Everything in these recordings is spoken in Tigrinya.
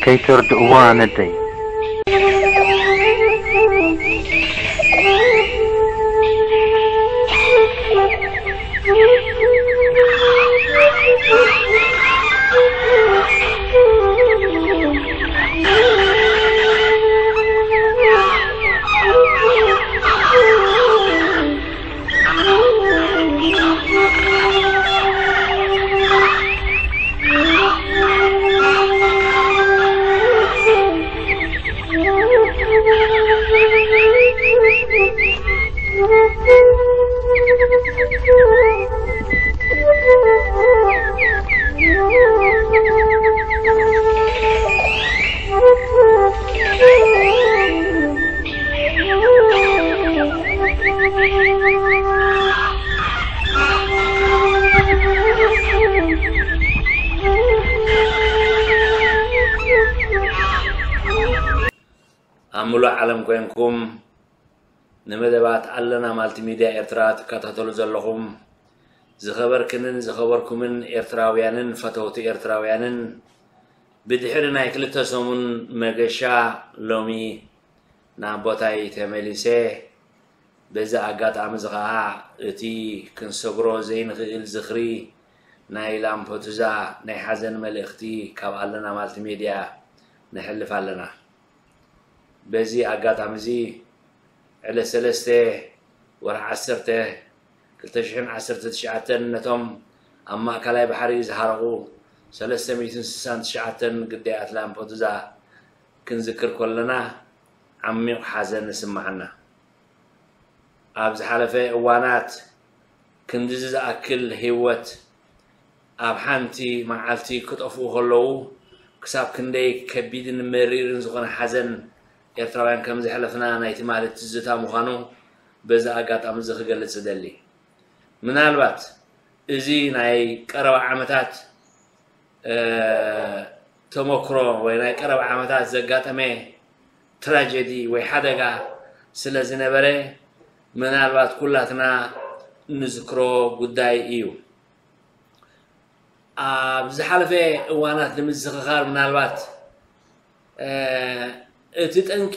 ኣይተርድእዋ ነደይ። ኣብ ምሉእ ዓለም ኮይንኩም ንመደባት ኣለና ማልቲሚድያ ኤርትራ ትከታተሉ ዘለኹም ዝኸበርክንን ዝኸበርኩምን ኤርትራውያንን ፈተውቲ ኤርትራውያንን፣ ብድሕሪ ናይ ክልተ ሰሙን መገሻ ሎሚ ናብ ቦታይ ተመሊሰ። በዚ ኣጋጣሚ እዚ ኸዓ እቲ ክንሰግሮ ዘይንኽእል ዝኽሪ ናይ ላምፐዱዛ ናይ ሓዘን መልእኽቲ ካብ ኣለና ማልቲሜድያ ነሕልፍ ኣለና። በዚ ኣጋጣሚ እዚ ዕለት ሰለስተ ወርሒ ዓሰርተ ክልተ ሽሕን ዓሰርተ ትሽዓተን ነቶም ኣብ ማእከላይ ባሕሪ ዝሃረቑ ሰለስተ ሚእትን ስሳን ትሽዓተን ግዳያት ላምፐዱዛ ክንዝክር ከለና ዓሚቕ ሓዘን ይስምዓና። ኣብ ዝሓለፈ እዋናት ክንድዚ ዝኣክል ህይወት ኣብ ሓንቲ መዓልቲ ክጠፍኡ ከለዉ ክሳብ ክንደይ ከቢድን መሪርን ዝኾነ ሓዘን ኤርትራውያን ከም ዘሕለፍና ናይ ትማሊ ትዝታ ምዃኑ በዚ ኣጋጣሚ እዚ ክገልጽ እደሊ። ምናልባት እዚ ናይ ቀረባ ዓመታት እ፣ ተመክሮ ወይ ናይ ቀረባ ዓመታት ዘጋጠመ ትራጀዲ ወይ ሓደጋ ስለ ዝነበረ ምናልባት ኩላትና ንዝክሮ ጉዳይ እዩ። ኣብ ዝሓለፈ እዋናት ንምዝኽኻር ምናልባት እ፣ እቲ ጠንቂ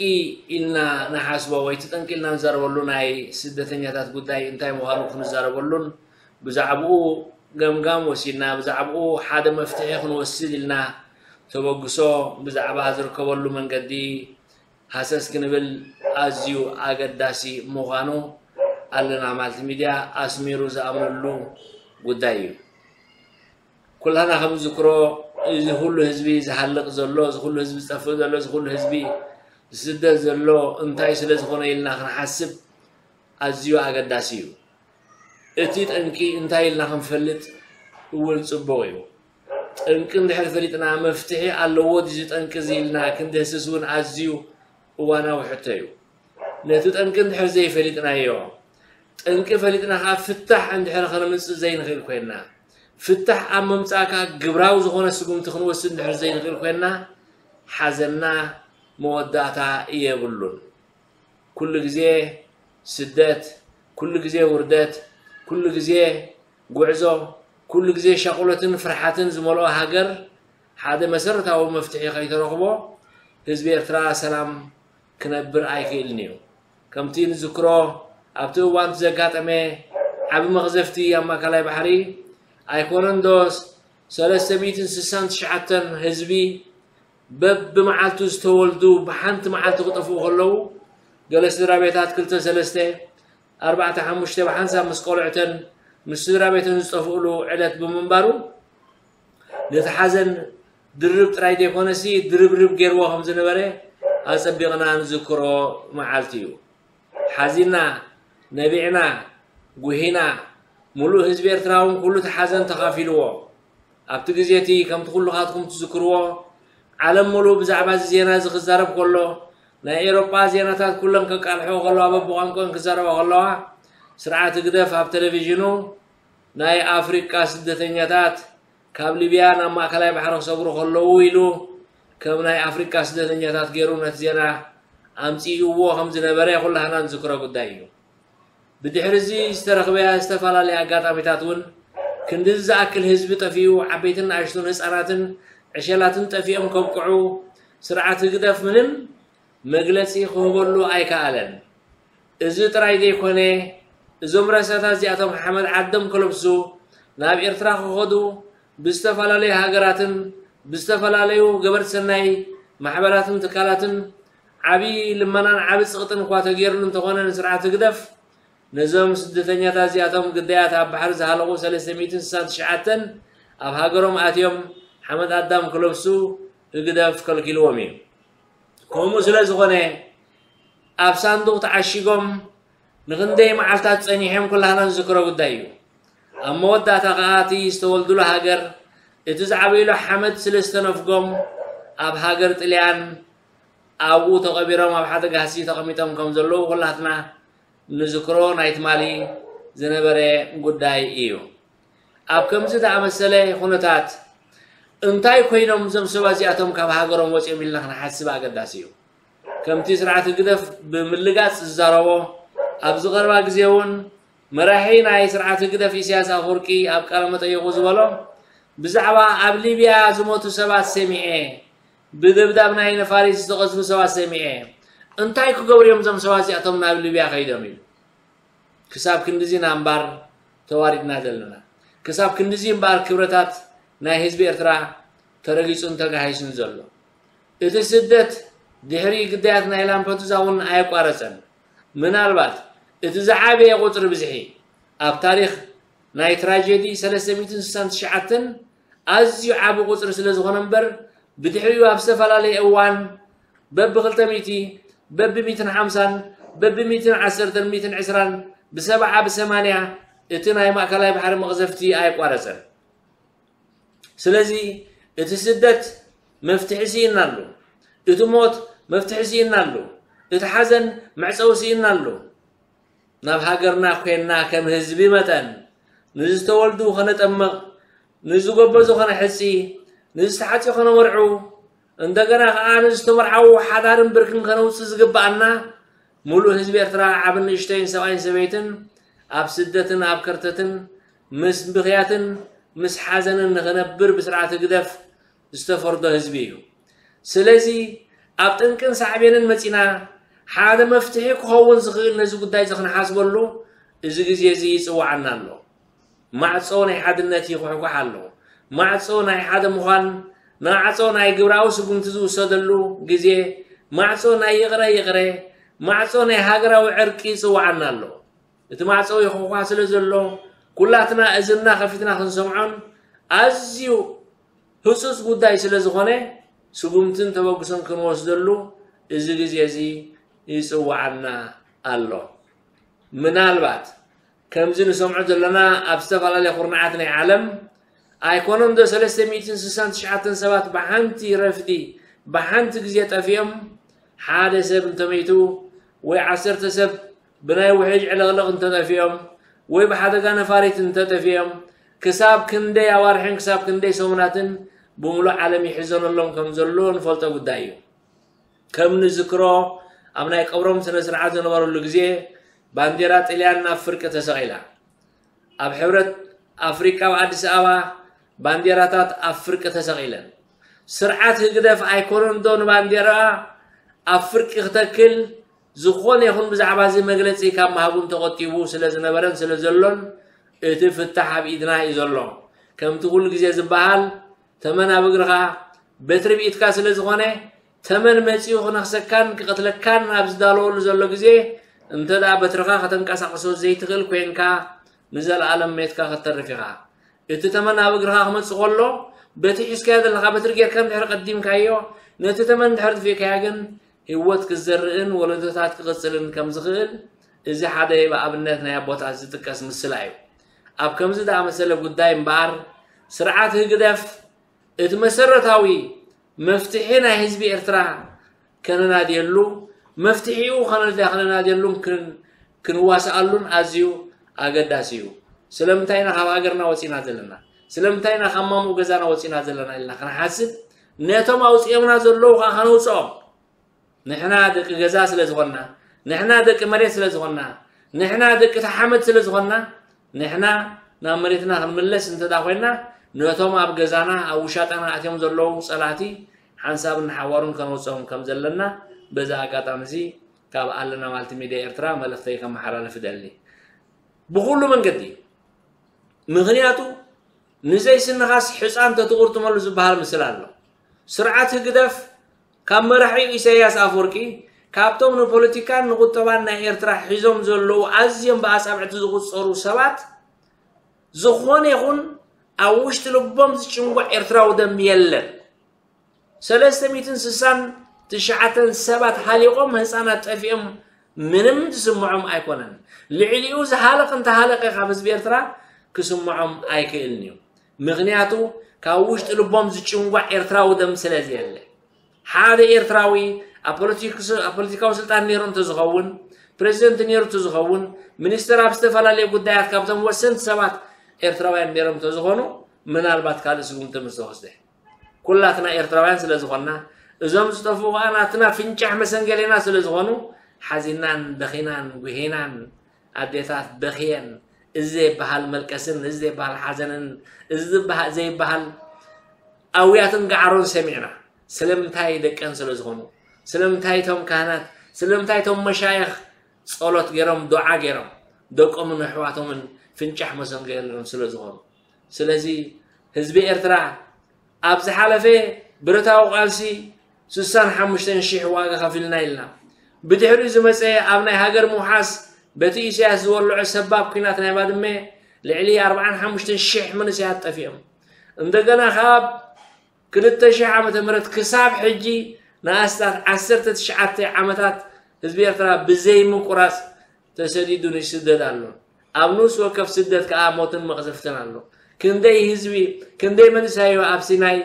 ኢልና ንሓስቦ ወይ እቲ ጠንቂ ኢልና ንዛረበሉ ናይ ስደተኛታት ጉዳይ እንታይ ምዃኑ ክንዛረበሉን ብዛዕባኡ ገምጋም ወሲድና ብዛዕባኡ ሓደ መፍትሒ ክንወስድ ኢልና ተበግሶ ብዛዕባ ዝርከበሉ መንገዲ ሃሰስ ክንብል ኣዝዩ ኣገዳሲ ምዃኑ ኣለና ማልቲ ሚድያ ኣስሚሩ ዝኣምነሉ ጉዳይ እዩ። ኩላና ከም ዝዝክሮ እዚ ኩሉ ህዝቢ ዝሃልቕ ዘሎ፣ እዚ ኩሉ ህዝቢ ዝጠፍእ ዘሎ፣ እዚ ኩሉ ህዝቢ ዝስደድ ዘሎ እንታይ ስለ ዝኾነ ኢልና ክንሓስብ ኣዝዩ ኣገዳሲ እዩ። እቲ ጠንቂ እንታይ ኢልና ክንፈልጥ እውን ጽቡቕ እዩ። ጠንቂ እንድሕር ፈሊጥና መፍትሒ ኣለዎ ድዩ ጠንቂ እዚ ኢልና ክንድህስስ እውን ኣዝዩ እዋናዊ ሕቶ እዩ። ነቲ ጠንቂ እንድሕር ዘይፈሊጥናዮ፣ ጠንቂ ፈሊጥና ከኣ ፍታሕ እንድሕር ከነምጽእ ዘይንኽእል ኮይንና፣ ፍታሕ ኣብ ምምጻእ ከኣ ግብራዊ ዝኾነ ስጉምቲ ክንወስድ እንድሕር ዘይንኽእል ኮይንና፣ ሓዘንና መወዳእታ የብሉን። ኩሉ ግዜ ስደት፣ ኩሉ ግዜ ውርደት፣ ኩሉ ግዜ ጉዕዞ፣ ኩሉ ግዜ ሻቕሎትን ፍርሓትን ዝመልኦ ሃገር ሓደ መሰረታዊ መፍትሒ ከይተረኽቦ ህዝቢ ኤርትራ ሰላም ክነብር ኣይክእልን እዩ። ከምቲ ንዝክሮ ኣብቲ እዋን እቲ ዘጋጠመ ዓቢ መቕዘፍቲ ኣብ ማእከላይ ባሕሪ ኣይኮነን ዶ ሰለስተ ሚእትን ስሳን ትሽዓተን ህዝቢ በብመዓልቱ ዝተወልዱ ብሓንቲ መዓልቲ ክጠፍኡ ከለዉ ገለ ስድራ ቤታት ክልተ ሰለስተ ኣርባዕተ ሓሙሽተ ብሓንሳብ ምስ ቆልዑተን ምስ ስድራ ቤተን ዝጠፍእሉ ዕለት ብምንባሩ ነቲ ሓዘን ድርብ ጥራይ ዘይኮነሲ ድርብርብ ገይርዎ ከም ዝነበረ ኣጸቢቕና ንዝክሮ መዓልቲ እዩ። ሓዚና፣ ነቢዕና፣ ጉሂና፣ ምሉእ ህዝቢ ኤርትራ እውን ኩሉ እቲ ሓዘን ተኻፊልዎ። ኣብቲ ግዜ እቲ ከምቲ ኩልኻትኩም ትዝክርዎ ዓለም ምሉእ ብዛዕባ እዚ ዜና እዚ ክዛረብ ከሎ ናይ ኤሮጳ ዜናታት ኩለን ከቃልሕኦ ከለዋ በብቋንቋን ክዛረባ ከለዋ ስርዓት ህግደፍ ኣብ ቴሌቪዥኑ ናይ ኣፍሪቃ ስደተኛታት ካብ ሊብያ ናብ ማእከላይ ባሕሪ ክሰግሩ ከለዉ ኢሉ ከም ናይ ኣፍሪቃ ስደተኛታት ገይሩ ነቲ ዜና ኣምጺእዎ ከም ዝነበረ ኩላህና ንዝክሮ ጉዳይ እዩ። ብድሕሪ እዚ ዝተረኽበ ዝተፈላለየ ኣጋጣሚታት እውን ክንድዚ ዝኣክል ህዝቢ ጠፊኡ ዓበይትን ንኣሽቱን ህጻናትን ዕሸላትን ጠፊኦም ከብቅዑ ስርዓት ህግደፍ ምንም መግለጺ ክህበሉ ኣይከኣለን። እዚ ጥራይ ዘይኮነ፣ እዞም ረሳታት እዚኣቶም ሓመድ ዓዶም ከለብሱ ናብ ኤርትራ ክኸዱ ብዝተፈላለዩ ሃገራትን ብዝተፈላለዩ ገበርቲ ሰናይ ማሕበራትን ትካላትን ዓቢ ልመናን ዓቢ ጽቕጥን እኳ ተገይሩሉ እንተኾነ፣ ንስርዓት ህግደፍ ነዞም ስደተኛታት እዚኣቶም ግዳያት ኣብ ባሕሪ ዝሃለቑ ሰለስተ ሚእትን ስሳን ትሽዓተን ኣብ ሃገሮም ኣትዮም ሓመድ ኣዳም ክለብሱ ህግደፍ ከልኪልዎም እዩ። ከምኡ ስለ ዝኾነ ኣብ ሳንዱቕ ተዓሺጎም ንኽንደይ መዓልታት ጸኒሖም ኩላህና ንዝክሮ ጉዳይ እዩ። ኣብ መወዳእታ ከኣ እቲ ዝተወልዱሉ ሃገር እቲ ዝዓበይሉ ሓመድ ስለ ዝተነፍጎም ኣብ ሃገር ጥልያን ኣብኡ ተቐቢሮም ኣብ ሓደ ጋህሲ ተቐሚጦም ከም ዘለዉ ኩላትና ንዝክሮ ናይ ትማሊ ዝነበረ ጉዳይ እዩ። ኣብ ከምዚ ዝኣመሰለ ኩነታት እንታይ ኮይኖም እዞም ሰባት እዚኣቶም ካብ ሃገሮም ወፂኦም ኢልና ክንሓስብ ኣገዳሲ እዩ። ከምቲ ስርዓት ህግደፍ ብምልጋፅ ዝዛረቦ ኣብዚ ቀረባ ግዜ እውን መራሒ ናይ ስርዓት ህግደፍ ኢሳያስ ኣፈወርቂ ኣብ ቃለ መጠይቁ ዝበሎ ብዛዕባ ኣብ ሊብያ ዝሞቱ ሰባት ሰሚዐ፣ ብደብዳብ ናይ ነፋሪት ዝተቐዝፉ ሰባት ሰሚዐ፣ እንታይ ክገብሩ እዮም እዞም ሰባት እዚኣቶም ናብ ሊብያ ከይዶም ኢሉ። ክሳብ ክንድዚ ኢና እምበኣር ተዋሪድና ዘለና። ክሳብ ክንድዚ እምበኣር ክብረታት ናይ ህዝቢ ኤርትራ ተረጊጹን ተጋሂሱን ዘሎ። እቲ ስደት ድሕሪ ግዳያት ናይ ላምፐዱዛ እውን ኣየቋረጸን። ምናልባት እቲ ዝዓበየ ቁጽሪ ብዝሒ ኣብ ታሪኽ ናይ ትራጀዲ ሰለስተ ሚእትን ስሳን ትሽዓተን ኣዝዩ ዓቢ ቁጽሪ ስለ ዝኾነ እምበር፣ ብድሕሪኡ ኣብ ዝተፈላለየ እዋን በቢ ክልተ ሚእቲ፣ በቢ ሚእትን ሓምሳን፣ በቢ ሚእትን ዓሰርተን፣ ሚእትን ዕስራን፣ ብሰብዓ፣ ብሰማንያ እቲ ናይ ማእከላይ ባሕሪ መቕዘፍቲ ኣየቋረጸን። ስለዚ እቲ ስደት መፍትሒ ስኢንና ኣሎ። እቲ ሞት መፍትሒ ስኢንና ኣሎ። እቲ ሓዘን መዕጸዊ ስኢንና ኣሎ። ናብ ሃገርና ኮይንና ከም ህዝቢ መጠን ንዝተወልዱ ከነጠምቕ፣ ንዝጎበዙ ከነሕጺ፣ ንዝተሓጽዩ ከነመርዑ፣ እንደገና ከኣ ንዝተመርዓዉ ሓዳርን ብርክን ከነውጽእ ዝግብኣና፣ ሙሉእ ህዝቢ ኤርትራ ዓብን ንእሽተይን ሰብኣይን ሰበይትን ኣብ ስደትን ኣብ ከርተትን ምስ ብኽያትን ምስ ሓዘንን ንኽነብር ብስርዓት ህግደፍ ዝተፈርዶ ህዝቢ እዩ። ስለዚ ኣብ ጠንቅን ሳዕቤንን መጺና ሓደ መፍትሒ ክኸውን ዝኽእል ነዚ ጉዳይ እዚ ክንሓስበሉ እዚ ግዜ እዚ ይጽውዓና ኣሎ። ማዕጾ ናይ ሓድነት ይኹሕኳሕ ኣሎ። ማዕጾ ናይ ሓደ ምዃን፣ ማዕጾ ናይ ግብራዊ ስጉምቲ ዝውሰደሉ ግዜ፣ ማዕጾ ናይ ይቕረ ይቕረ፣ ማዕጾ ናይ ሃገራዊ ዕርቂ ይጽውዓና ኣሎ። እቲ ማዕጾ ይኹሕኳሕ ስለ ዘሎ፣ ኩላትና እዝንና ከፊትና ክንሰምዖን ኣዝዩ ህጹጽ ጉዳይ ስለ ዝኾነ፣ ስጉምትን ተበግሶን ክንወስደሉ እዚ ግዜ እዚ ይጽውዓና ኣሎ። ምናልባት ከምዚ ንሰምዖ ዘለና ኣብ ዝተፈላለየ ኩርናዓት ናይ ዓለም ኣይኮነን ዶ ሰለስተ ሚእትን ስሳን ትሽዓተን ሰባት ብሓንቲ ረፍዲ ብሓንቲ ግዜ ጠፊኦም? ሓደ ሰብ እንተመይቱ ወይ ዓሰርተ ሰብ ብናይ ውሕጅ ዕልቕልቕ እንተጠፊኦም ወይ ብሓደጋ ነፋሪት እንተጠፊኦም ክሳብ ክንደይ ኣዋርሕን ክሳብ ክንደይ ሰሙናትን ብምሉእ ዓለም ይሕዘነሎም ከም ዘሎ ንፈልጦ ጉዳይ እዩ። ከም ንዝክሮ ኣብ ናይ ቀብሮም ስነ ስርዓት ዝነበረሉ ግዜ ባንዴራ ጥልያን ናብ ፍርቂ ተሰቒላ። ኣብ ሕብረት ኣፍሪቃ ኣብ ኣዲስ ኣበባ ባንዴራታት ኣብ ፍርቂ ተሰቒለን። ስርዓት ህግደፍ ኣይኮነን ዶ ንባንዴራ ኣብ ፍርቂ ክተክል ዝኾነ ይኹን ብዛዕባ እዚ መግለጺ ካብ ምሃቡን ተቖጢቡ ስለ ዝነበረን ስለ ዘሎን እቲ ፍታሕ ኣብ ኢድና እዩ ዘሎ። ከምቲ ኩሉ ግዜ ዝበሃል ተመን ኣብ እግርኻ በትሪ ብኢድካ ስለ ዝኾነ ተመን መጺኡ ክነኽሰካን ክቐትለካን ኣብ ዝዳለወሉ ዘሎ ግዜ እንተ ደኣ በትርኻ ከተንቀሳቕሶ ዘይትኽእል ኮይንካ ንዘለኣለም ሜትካ ክትተርፍ ኢኻ። እቲ ተመን ኣብ እግርኻ ክመጽእ ከሎ በቲ ሒዝካዮ ዘለኻ በትሪ ጌርካ እንድሕር ቀዲምካዮ ነቲ ተመን እንድሕር ጥፊእካዮ ግን ህይወት ክዘርእን ወለዶታት ክቕጽልን ከም ዝኽእል እዚ ሓደ ብኣብነት ናይ ኣቦታት ዝጥቀስ ምስላ እዩ። ኣብ ከምዚ ዝኣመሰለ ጉዳይ እምበኣር ስርዓት ህግደፍ እቲ መሰረታዊ መፍትሒ ናይ ህዝቢ ኤርትራ ከነናድየሉ መፍትሒኡ ከነዳ ከነናድየሉን ክን- ክንዋስኣሉን ኣዝዩ ኣገዳሲ እዩ። ስለምንታይ ኢና ካብ ሃገርና ወፂና ዘለና? ስለምንታይ ኢና ካብ ማሙእ ገዛና ወፂና ዘለና ኢልና ክንሓስብ ነቶም ኣውፂኦምና ዘለዉ ከዓ ከነውፅኦም ንሕና ደቂ ገዛ ስለ ዝኾንና፣ ንሕና ደቂ መሬት ስለ ዝኾንና፣ ንሕና ደቂ ተሓመድ ስለ ዝኾንና፣ ንሕና ናብ መሬትና ክንምለስ እንተ ደኣ ኮይንና፣ ነቶም ኣብ ገዛና፣ ኣብ ውሻጠና ኣትዮም ዘለዉ ጸላእቲ ሓንሳብን ሓዋሩን ከነውፅኦም ከም ዘለና በዚ ኣጋጣሚ እዚ ካብ ኣለና ማልቲ ሚድያ ኤርትራ መልእኽተይ ከመሓላልፍ እደሊ። ብኹሉ መንገዲ፣ ምኽንያቱ ንዘይስንኻስ ሕፃን ተትቑርጥመሉ ዝበሃል ምስል ኣሎ። ስርዓት ህግደፍ ካብ መራሒኡ ኢሳያስ ኣፈወርቂ፣ ካብቶም ንፖለቲካን ንቁጠባን ናይ ኤርትራ ሒዞም ዘለዉ ኣዝዮም ብኣጻብዕቲ ዝቑጸሩ ሰባት፣ ዝኾነ ይኹን ኣብ ውሽጢ ልቦም ዝጭንጓዕ ኤርትራዊ ደም የለን። ሰለስተ ሚእትን ስሳን ትሽዓተን ሰባት ሃሊቖም፣ ህፃናት ጠፊኦም፣ ምንም ዝስምዖም ኣይኮነን። ልዕሊኡ ዝሃለቕ እንተሃለቐ ካብ ህዝቢ ኤርትራ ክስምዖም ኣይክእልን እዩ። ምኽንያቱ ካብ ውሽጢ ልቦም ዝጭንጓዕ ኤርትራዊ ደም ስለ ዘየለ። ሓደ ኤርትራዊ ኣብ ፖለቲክስ-፣ ኣብ ፖለቲካዊ ስልጣን ነይሩ እንተዝኸውን፣ ፕሬዚደንት ነይሩ እንተዝኸውን፣ ሚኒስተር ኣብ ዝተፈላለዩ ጉዳያት ካብቶም ወሰንቲ ሰባት ኤርትራውያን ነይሮም እንተዝኾኑ፣ ምናልባት ካልእ ስጉምቲ ምስተወስደ። ኩላትና ኤርትራውያን ስለ ዝኾንና፣ እዞም ዝጠፍኡ ከኣ ናትና ፍንጫሕ መሰንገሌና ስለ ዝኾኑ፣ ሓዚናን በኺናን ጉሂናን፣ ኣዴታት በኽየን፣ እዚ ዘይበሃል መልቀስን እዚ ዘይበሃል ሓዘንን፣ እዚ ዝበሃ-፣ ዘይበሃል ኣውያትን ገዓሮን ሰሚዕና። ስለምንታይ? ደቀን ስለ ዝኾኑ። ስለምንታይ? እቶም ካህናት፣ ስለምንታይ? እቶም መሻይኽ ጸሎት ገይሮም፣ ዱዓ ገይሮም፣ ደቆምን ኣሕዋቶምን ፍንጫሕ መሰንገሌኦም ስለ ዝኾኑ። ስለዚ ህዝቢ ኤርትራ ኣብ ዝሓለፈ ብረታዊ ቃልሲ ስሳን ሓሙሽተን ሺሕ ዋጋ ከፊልና ኢልና። ብድሕሪኡ ዝመጸ ኣብ ናይ ሃገር ምውሓስ በቲ ኢሳያስ ዝወልዖ ሰባብ ኲናት ናይ ባድመ ልዕሊ ኣርብዓን ሓሙሽተን ሺሕ መንእሰያት ጠፊኦም። እንደገና ካብ ክልተ ሺሕ ዓመተ ምህረት ክሳብ ሕጂ ንኣስታት ዓሰርተ ትሽዓተ ዓመታት ህዝቢ ኤርትራ ብዘይ ምቁራጽ ተሰዲዱ ንስደት ኣሎ። ኣብ ንኡስ ወከፍ ስደት ከኣ ሞትን መቕዘፍትን ኣሎ። ክንደይ ህዝቢ፣ ክንደይ መንእሰያዩ ኣብ ሲናይ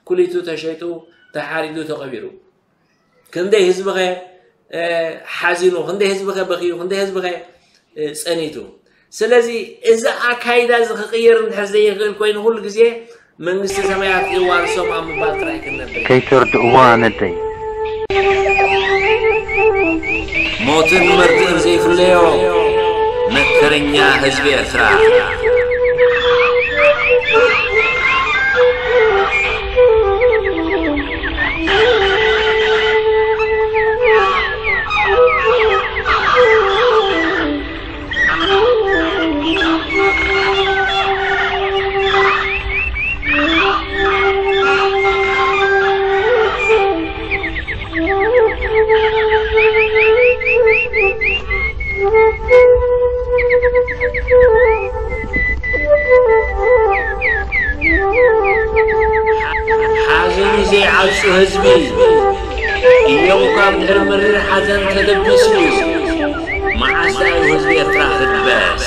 ኩሊቱ ተሸይጡ፣ ተሓሪዱ፣ ተቐቢሩ። ክንደይ ህዝብኸ፣ እ፣ ሓዚኑ፣ ክንደይ ህዝብኸ በኽዩ፣ ክንደይ ህዝብኸ፣ እ፣ ጸኒቱ። ስለዚ እዚ ኣካይዳ እዚ ክቕየር እንድሕር ዘይኽእል ኮይኑ፣ ኩሉ ግዜ መንግስቲ ሰማያት የዋርሶም ኣብ ምባል ጥራይ ክንነብር። ከይተርድእዋ ነደይ። ሞትን መርድእን ዘይፍለዮ መከረኛ ህዝቢ ኤርትራ። ሓዘኑ ዘይዓጹ ህዝቢ፣ እዮብ እኳ ብድሕሪ መሪር ሓዘን ተደቢሱ እዩ። መዓስ ደኣ እዩ ህዝቢ ኤርትራ ክበስ?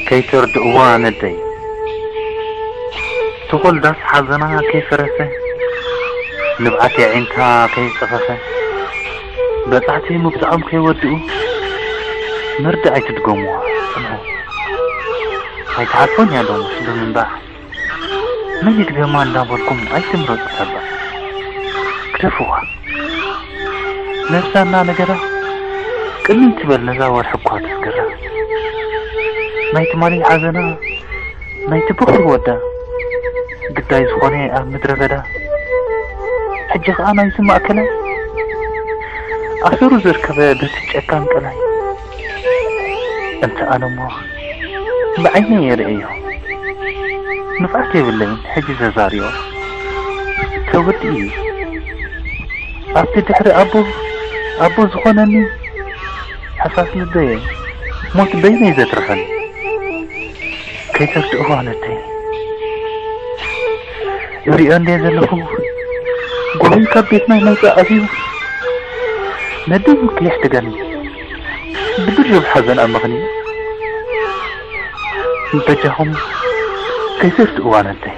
ከይተርድእዋ ነደይ፣ ተኾልዳስ ሓዘና ከይፈረሰ፣ ንብዓት የዒንታ ከይጸፈፈ፣ በጻሕቲ ምብጽዖም ከይወድኡ፣ መርድእ ኣይትድገምዋ፣ ጽንሑ። ኣይትሓልፎን እያ ሎምስ ብምንባዕ። መን ይድገማ እንዳበልኩም ኣይትምረጹ ተባዕ። ግደፍዋ። ነብሳ እናነገዳ ቅልል ትበል ነዛ ወርሒ እኳ ተስገራ። ናይ ትማሊ ሓዘና ናይቲ በኹሪ ወዳ ግዳይ ዝኾነ ኣብ ምድረ በዳ ሕጂ ኸኣ ናይዚ ማእከላይ ኣሰሩ ዘርከበ በቲ ጨካን ቀላይ። እንተ ኣነ እሞ ብዓይነይ እየ ርእዮ። ንፍዓት የብለይን ሕጂ ዘዛርዮ። ተወዲኡ እዩ። ኣብቲ ድሕሪ ኣቦ፣ ኣቦ ዝኾነኒ ሓሳስ ልበየ ሞት በይነይ ዘትርፈኒ። ከይተርድእዋ ነደይ። እሪኦ እንድየ ዘለኹ፣ ጎበይ ካብ ቤትና ይመውፅእ ኣዝዩ። ነደይ ከየሕደገኒ፣ ብድርብ ሓዘን ኣመኽንዩ። በጃኹም ከይትርስእዋ ነደይ።